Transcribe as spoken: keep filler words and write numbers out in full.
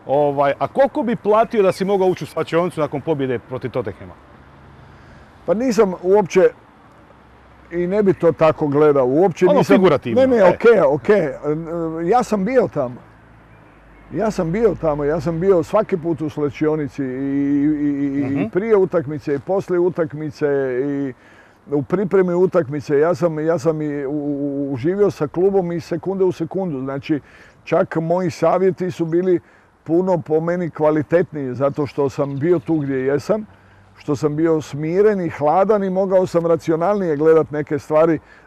Ovaj, a koliko bi platio da si mogao ući u svačionicu nakon pobjede protiv Tottenhama? Pa nisam uopće i ne bi to tako gledao. Uopće ono nisam... figurativno. Ne, ne, e. okej, okej. Ja sam bio tamo. Ja sam bio tamo, ja sam bio svaki put u slačionici i, i, uh-huh. i prije utakmice i poslije utakmice i u pripremi utakmice. Ja sam, ja sam i uživio sa klubom i sekunde u sekundu. Znači, čak moji savjeti su bili puno po meni kvalitetniji zato što sam bio tu gdje jesam, što sam bio smiren i hladan i mogao sam racionalnije gledati neke stvari